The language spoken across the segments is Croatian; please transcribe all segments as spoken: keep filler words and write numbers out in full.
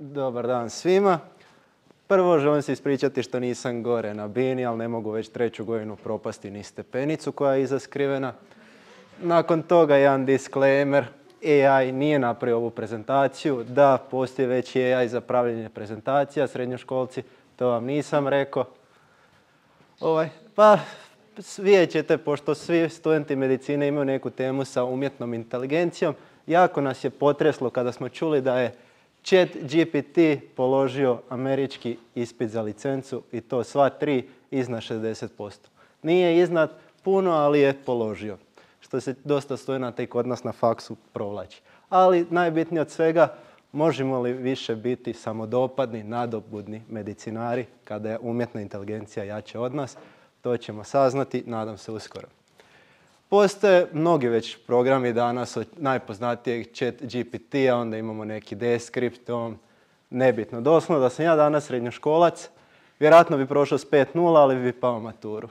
Dobar dan svima. Prvo želim se ispričati što nisam gore na bini, ali ne mogu već treću godinu propasti ni stepenicu koja je iza skrivena. Nakon toga jedan disclaimer. A I nije napravio ovu prezentaciju. Da, postoji već A I za pravljenje prezentacija, srednjoškolci, to vam nisam rekao. Ovaj, pa vidjet ćete, pošto svi studenti medicine imaju neku temu sa umjetnom inteligencijom, jako nas je potreslo kada smo čuli da je Chat G P T položio američki ispit za licencu i to sva tri iznad šezdeset posto. Nije iznad puno, ali je položio, što se dosta studenata i kod nas na faksu provlači. Ali najbitnije od svega, možemo li više biti samodopadni, nadobudni medicinari kada je umjetna inteligencija jača od nas, to ćemo saznati, nadam se uskoro. Postoje mnogi već programi danas od najpoznatijeg Chat G P T-a, onda imamo neki Descript, nebitno. Doslovno da sam ja danas srednjoškolac, vjerojatno bi prošao s pet nula, ali bi pao maturu.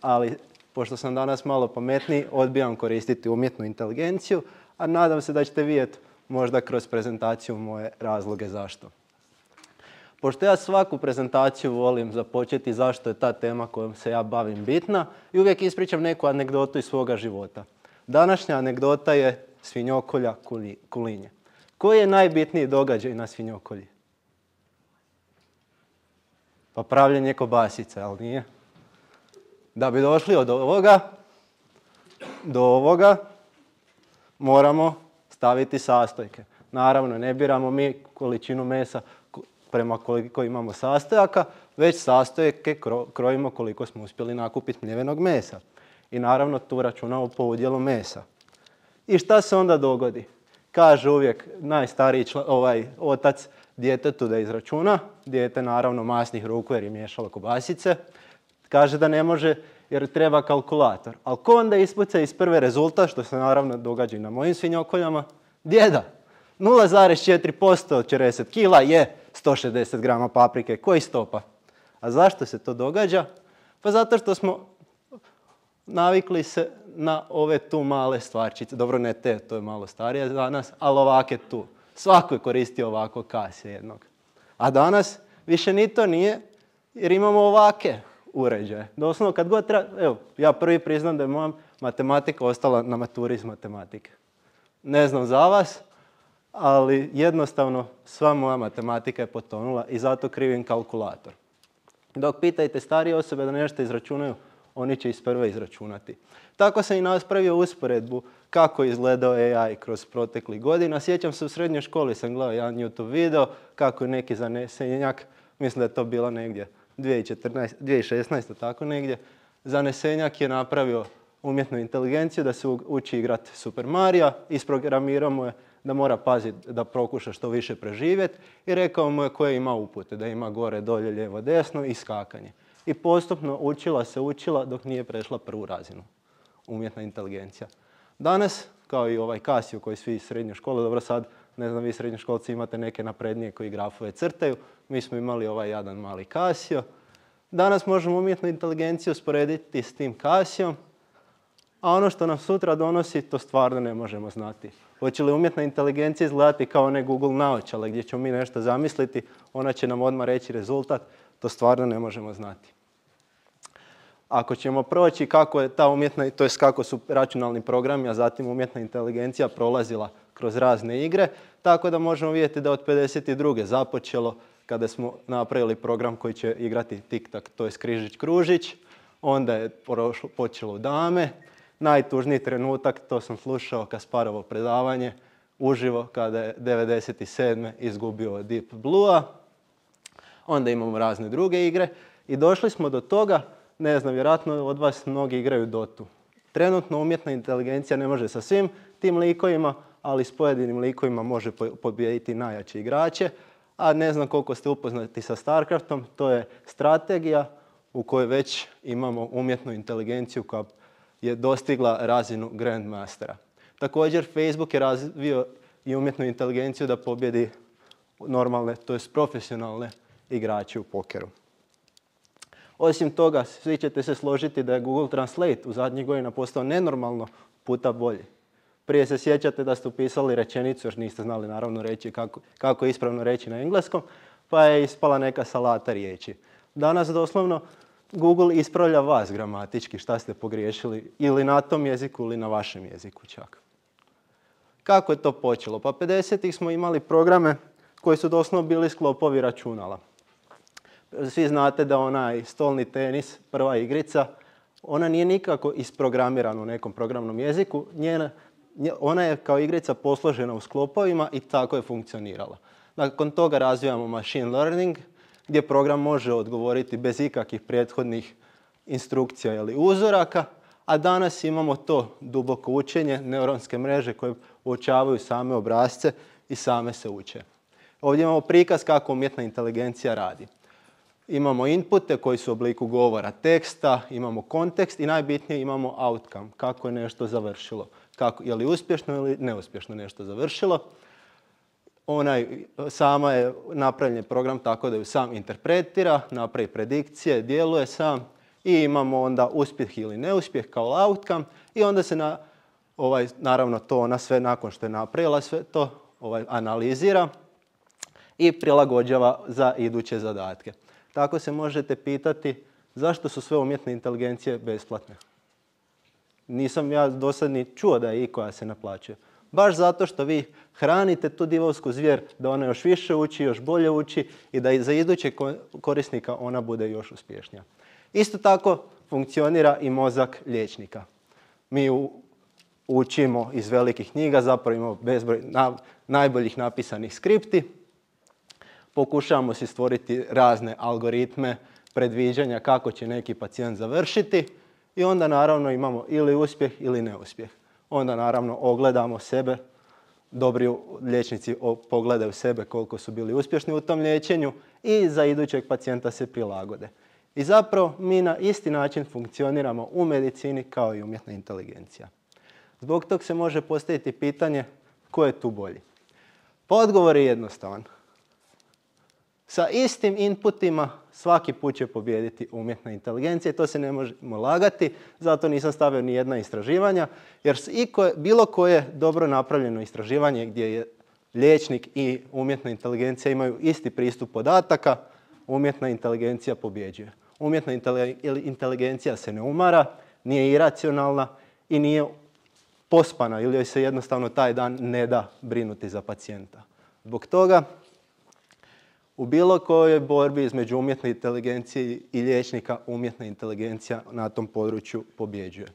Ali pošto sam danas malo pametniji, odbijam koristiti umjetnu inteligenciju, a nadam se da ćete vidjeti možda kroz prezentaciju moje razloge zašto. Pošto ja svaku prezentaciju volim započeti zašto je ta tema kojom se ja bavim bitna i uvijek ispričam neku anegdotu iz svoga života. Današnja anegdota je svinjokolja kulinje. Koji je najbitniji događaj na svinjokolji? Pa pravljenje kobasice, ali nije. Da bi došli od ovoga do ovoga moramo staviti sastojke. Naravno, ne biramo mi količinu mesa prema koliko imamo sastojaka, već sastojke krojimo koliko smo uspjeli nakupiti mljevenog mesa. I naravno tu računamo po udjelu mesa. I šta se onda dogodi? Kaže uvijek najstariji član, ovaj, otac djetetu da izračuna. Dijete naravno masnih ruku jer je miješalo kobasice. Kaže da ne može jer treba kalkulator. Ali ko onda ispuca iz prve rezultat, što se naravno događa i na mojim svinjokoljama? Djeda. nula zarez četiri posto od četrdeset kila je sto šezdeset grama paprike. Koji stopa? A zašto se to događa? Pa zato što smo navikli se na ove tu male stvarčice. Dobro, ne te, to je malo starije za nas, ali ovake tu. Svako je koristio ovako kasije jednog. A danas više ni to nije jer imamo ovake uređaje. Doslovno kad god treba, evo, ja prvi priznam da je moja matematika ostala na maturi iz matematike. Ne znam za vas, ali jednostavno sva moja matematika je potonula i zato krivim kalkulator. Dok pitajte starije osobe da nešto izračunaju, oni će iz prve izračunati. Tako sam i napravio usporedbu kako je izgledao A I kroz proteklih godina. Sjećam se u srednjoj školi sam gledao jedan YouTube video kako je neki zanesenjak, mislim da je to bilo negdje dvije tisuće četrnaeste, dvije tisuće šesnaeste, tako negdje, zanesenjak je napravio umjetnu inteligenciju da se uči igrati Super Mario, isprogramirao mu je da mora paziti da prokuša što više preživjeti i rekao mu je koje ima upute, da ima gore, dolje, lijevo, desno i skakanje. I postupno učila se učila dok nije prešla prvu razinu umjetna inteligencija. Danas, kao i ovaj Casio koji svi iz srednje škole, dobro sad, ne znam, vi srednjoškolci imate neke naprednije koji grafove crtaju, mi smo imali ovaj jedan mali Casio. Danas možemo umjetnu inteligenciju usporediti s tim Casiom, a ono što nam sutra donosi, to stvarno ne možemo znati. Hoće li umjetna inteligencija izgledati kao one Google naočale gdje ćemo mi nešto zamisliti, ona će nam odmah reći rezultat, to stvarno ne možemo znati. Ako ćemo proći kako je ta umjetna, to jest kako su računalni programi, a zatim umjetna inteligencija prolazila kroz razne igre, tako da možemo vidjeti da od pedeset druge započelo kada smo napravili program koji će igrati tik-tak, to je križić-kružić, onda je počelo dame. Najtužniji trenutak, to sam slušao Kasparovo predavanje uživo kada je devedeset sedme izgubio Deep Blue-a. Onda imamo razne druge igre i došli smo do toga, ne znam, vjerojatno od vas mnogi igraju Dotu. Trenutno umjetna inteligencija ne može sa svim tim likovima, ali s pojedinim likovima može pobijediti najjače igrače. A ne znam koliko ste upoznati sa StarCraftom, to je strategija u kojoj već imamo umjetnu inteligenciju koja je dostigla razinu Grandmastera. Također Facebook je razvio i umjetnu inteligenciju da pobjedi normalne, to jest profesionalne igrače u pokeru. Osim toga, svi ćete se složiti da je Google Translate u zadnjih godina postao nenormalno puta bolji. Prije se sjećate da ste upisali rečenicu, još niste znali naravno reći kako, kako ispravno reći na engleskom, pa je ispala neka salata riječi. Danas doslovno Google ispravlja vas gramatički šta ste pogriješili ili na tom jeziku ili na vašem jeziku čak. Kako je to počelo? Pa pedesetih smo imali programe koji su doslovno bili sklopovi računala. Svi znate da onaj stolni tenis, prva igrica, ona nije nikako isprogramirana u nekom programnom jeziku. Njena, ona je kao igrica posložena u sklopovima i tako je funkcionirala. Nakon toga razvijamo machine learning, gdje program može odgovoriti bez ikakvih prethodnih instrukcija ili uzoraka, a danas imamo to duboko učenje, neuronske mreže koje uočavaju same obrasce i same se uče. Ovdje imamo prikaz kako umjetna inteligencija radi. Imamo inpute koji su u obliku govora, teksta, imamo kontekst i najbitnije imamo outcome, kako je nešto završilo. Kako, je li uspješno ili neuspješno nešto završilo. Onaj, sama je napravljen program tako da ju sam interpretira, napravi predikcije, djeluje sam i imamo onda uspjeh ili neuspjeh kao outcome i onda se na, ovaj, naravno to ona sve nakon što je napravila sve to ovaj, analizira i prilagođava za iduće zadatke. Tako se možete pitati zašto su sve umjetne inteligencije besplatne. Nisam ja do sad ni čuo da je ikoja se naplaćuje. Baš zato što vi hranite tu divovsku zvijer da ona još više uči, još bolje uči i da i za idućeg korisnika ona bude još uspješnija. Isto tako funkcionira i mozak liječnika. Mi u, učimo iz velikih knjiga, zapravo imamo bezbroj na, najboljih napisanih skripti. Pokušavamo si stvoriti razne algoritme, predviđanja kako će neki pacijent završiti i onda naravno imamo ili uspjeh ili neuspjeh. Onda naravno ogledamo sebe, dobri liječnici pogledaju sebe koliko su bili uspješni u tom liječenju i za idućeg pacijenta se prilagode. I zapravo mi na isti način funkcioniramo u medicini kao i umjetna inteligencija. Zbog tog se može postaviti pitanje tko je tu bolji. Pa odgovor je jednostavan. Sa istim inputima svaki put će pobijediti umjetna inteligencija i to se ne možemo lagati, zato nisam stavio ni jedna istraživanja, jer bilo koje dobro napravljeno istraživanje gdje je liječnik i umjetna inteligencija imaju isti pristup podataka, umjetna inteligencija pobjeđuje. Umjetna inteligencija se ne umara, nije iracionalna i nije pospana ili joj se jednostavno taj dan ne da brinuti za pacijenta. Zbog toga u bilo kojoj borbi između umjetne inteligencije i liječnika umjetna inteligencija na tom području pobjeđuje.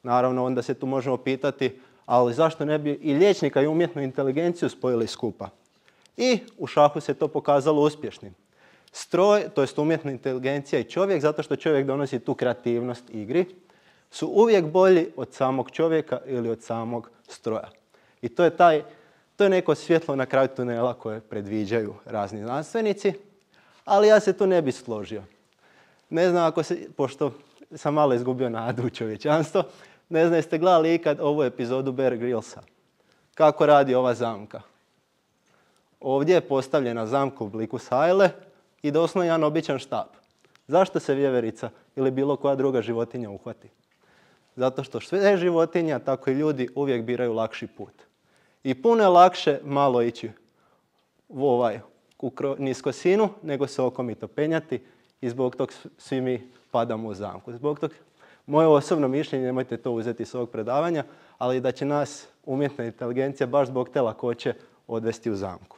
Naravno, onda se tu možemo pitati, ali zašto ne bi i liječnika i umjetnu inteligenciju spojili skupa? I u šahu se to pokazalo uspješnim. Stroj, to jest umjetna inteligencija i čovjek, zato što čovjek donosi tu kreativnost igri, su uvijek bolji od samog čovjeka ili od samog stroja. I to je taj To je neko svjetlo na kraju tunela koje predviđaju razni znanstvenici, ali ja se tu ne bi složio. Ne znam ako se, pošto sam malo izgubio nadu u čovječanstvo, ne znam jeste gledali ikad ovu epizodu Bear Grillsa. Kako radi ova zamka. Ovdje je postavljena zamka u obliku sajle i doslovno jedan običan štap. Zašto se vjeverica ili bilo koja druga životinja uhvati? Zato što sve životinja, tako i ljudi, uvijek biraju lakši put. I puno je lakše malo ići u ovaj u niskosinu nego se okomito penjati i zbog tog svi mi padamo u zamku. Zbog tog, moje osobno mišljenje, nemojte to uzeti iz ovog predavanja, ali da će nas umjetna inteligencija baš zbog te lakoće odvesti u zamku.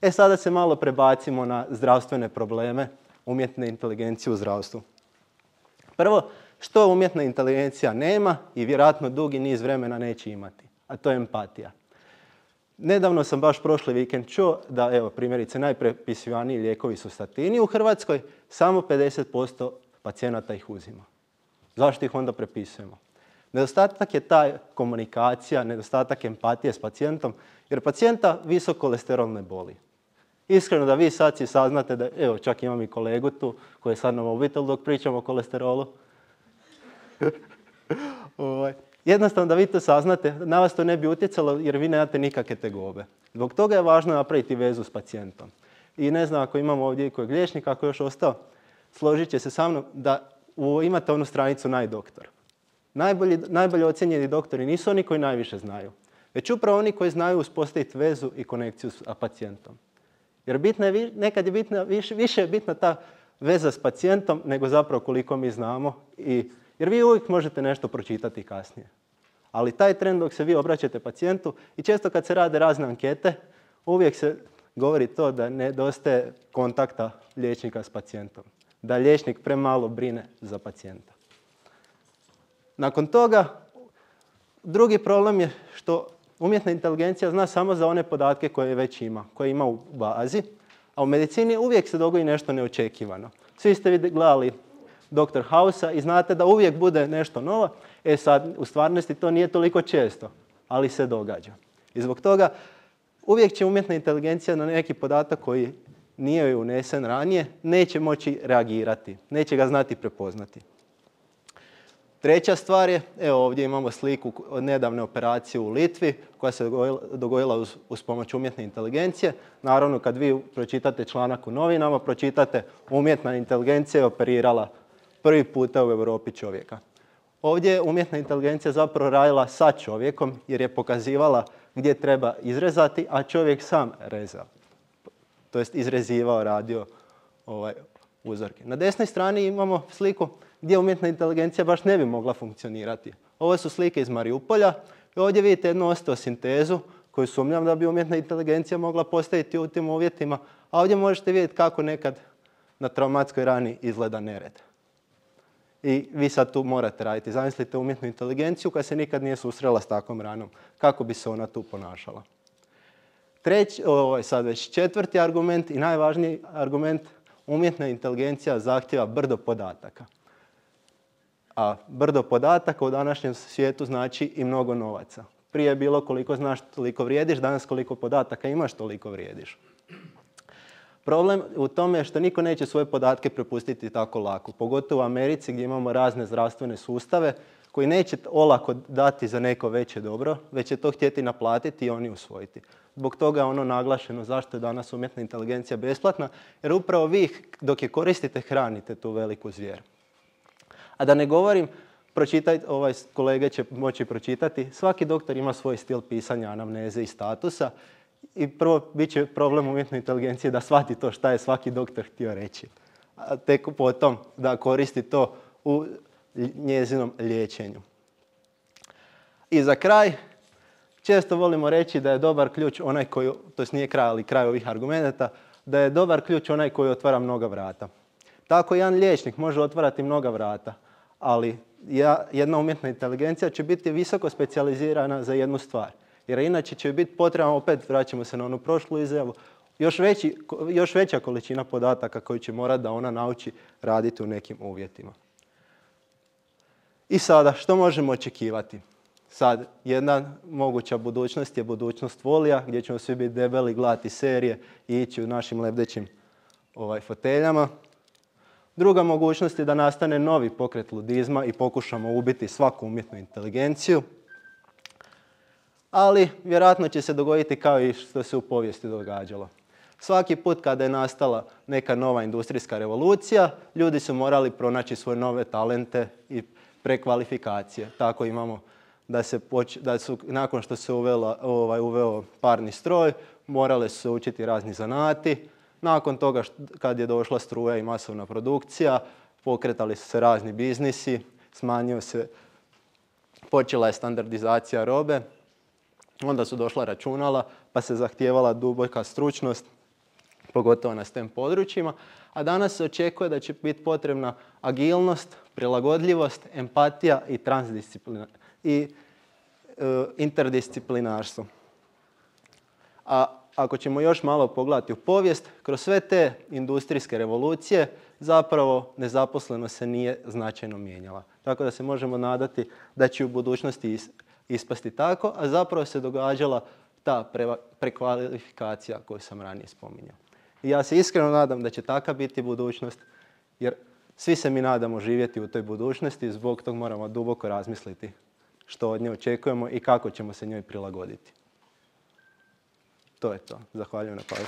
E sada se malo prebacimo na zdravstvene probleme umjetne inteligencije u zdravstvu. Prvo, što umjetna inteligencija nema i vjerojatno dugi niz vremena neće imati, a to je empatija. Nedavno sam baš prošli vikend čuo da, evo, primjerice, najprepisivaniji lijekovi su statini u Hrvatskoj, samo pedeset posto pacijenata ih uzima. Zašto ih onda prepisujemo? Nedostatak je ta komunikacija, nedostatak empatije s pacijentom, jer pacijenta visok kolesterol ne boli. Iskreno da vi sad si saznate da, evo, čak imam i kolegu tu koji je sad na mobitel dok pričamo o kolesterolu. Jednostavno da vi to saznate, na vas to ne bi utjecalo jer vi nemate nikakve tegobe. Zbog toga je važno napraviti vezu s pacijentom. I ne znam ako imamo ovdje i kojeg liječnika, ako je još ostao, složit će se sa mnom da imate onu stranicu Najdoktor. Najbolji, najbolje ocjenjeni doktori nisu oni koji najviše znaju, već upravo oni koji znaju uspostaviti vezu i konekciju s pacijentom. Jer bitna je, nekad je bitna, više, više je bitna ta veza s pacijentom nego zapravo koliko mi znamo. I, jer vi uvijek možete nešto pročitati kasnije. Ali taj tren dok se vi obraćate pacijentu i često kad se rade razne ankete, uvijek se govori to da nedostaje kontakta liječnika s pacijentom. Da liječnik premalo brine za pacijenta. Nakon toga, drugi problem je što umjetna inteligencija zna samo za one podatke koje već ima, koje ima u bazi, a u medicini uvijek se dogodi nešto neočekivano. Svi ste gledali doktor House-a i znate da uvijek bude nešto novo. E sad, u stvarnosti to nije toliko često, ali se događa. I zbog toga uvijek će umjetna inteligencija na neki podatak koji nije joj unesen ranije, neće moći reagirati, neće ga znati prepoznati. Treća stvar je, evo ovdje imamo sliku od nedavne operacije u Litvi koja se dogodila uz, uz pomoć umjetne inteligencije. Naravno, kad vi pročitate članak u novinama, pročitate umjetna inteligencija je operirala prvi puta u Europi čovjeka. Ovdje je umjetna inteligencija zapravo radila sa čovjekom jer je pokazivala gdje treba izrezati, a čovjek sam rezao. To jest izrezivao, radio ovaj, uzorke. Na desnoj strani imamo sliku gdje umjetna inteligencija baš ne bi mogla funkcionirati. Ovo su slike iz Mariupolja i ovdje vidite jednu osteosintezu koju sumnjam da bi umjetna inteligencija mogla postaviti u tim uvjetima, a ovdje možete vidjeti kako nekad na traumatskoj rani izgleda nered. I vi sad tu morate raditi. Zamislite umjetnu inteligenciju koja se nikad nije susrela s takvom ranom. Kako bi se ona tu ponašala? Treći, ovo je sad već četvrti argument i najvažniji argument, umjetna inteligencija zahtjeva brdo podataka. A brdo podataka u današnjem svijetu znači i mnogo novaca. Prije je bilo koliko znaš toliko vrijediš, danas koliko podataka imaš toliko vrijediš. Problem u tome je što niko neće svoje podatke prepustiti tako lako. Pogotovo u Americi gdje imamo razne zdravstvene sustave koji neće olako dati za neko veće dobro, već će to htjeti naplatiti i oni usvojiti. Zbog toga je ono naglašeno zašto je danas umjetna inteligencija besplatna, jer upravo vi dok je koristite hranite tu veliku zvijer. A da ne govorim, pročitaj, ovaj kolege će moći pročitati, svaki doktor ima svoj stil pisanja anamneze i statusa i prvo bit će problem umjetnoj inteligenciji da shvati to šta je svaki doktor htio reći. A tek potom da koristi to u njezinom liječenju. I za kraj, često volimo reći da je dobar ključ onaj koji, to nije kraj, ali kraj ovih argumenata, da je dobar ključ onaj koji otvara mnoga vrata. Tako jedan liječnik može otvarati mnoga vrata, ali jedna umjetna inteligencija će biti visoko specijalizirana za jednu stvar. Jer inače će biti potrebno, opet vraćamo se na onu prošlu izjavu, još, veći, još veća količina podataka koju će morati da ona nauči raditi u nekim uvjetima. I sada, što možemo očekivati? Sad, jedna moguća budućnost je budućnost volija, gdje ćemo svi biti debeli, gledati serije i ići u našim lebdećim ovaj, foteljama. Druga mogućnost je da nastane novi pokret ludizma i pokušamo ubiti svaku umjetnu inteligenciju. Ali vjerojatno će se dogoditi kao i što se u povijesti događalo. Svaki put kada je nastala neka nova industrijska revolucija, ljudi su morali pronaći svoje nove talente i prekvalifikacije. Tako imamo da, se poč- da su nakon što se uvela, ovaj, uveo parni stroj, morale su se učiti razni zanati. Nakon toga kad je došla struja i masovna produkcija, pokretali su se razni biznisi, smanjio se, počela je standardizacija robe, onda su došla računala pa se zahtijevala duboka stručnost, pogotovo na STEM područjima, a danas se očekuje da će biti potrebna agilnost, prilagodljivost, empatija i, i e, interdisciplinarstvo. A ako ćemo još malo pogledati u povijest, kroz sve te industrijske revolucije zapravo nezaposlenost se nije značajno mijenjala. Tako da se možemo nadati da će u budućnosti ispasti tako, a zapravo se događala ta pre, prekvalifikacija koju sam ranije spominjao. I ja se iskreno nadam da će taka biti budućnost, jer svi se mi nadamo živjeti u toj budućnosti i zbog tog moramo duboko razmisliti što od nje očekujemo i kako ćemo se njoj prilagoditi. To je to. Zahvaljujem na pažnji.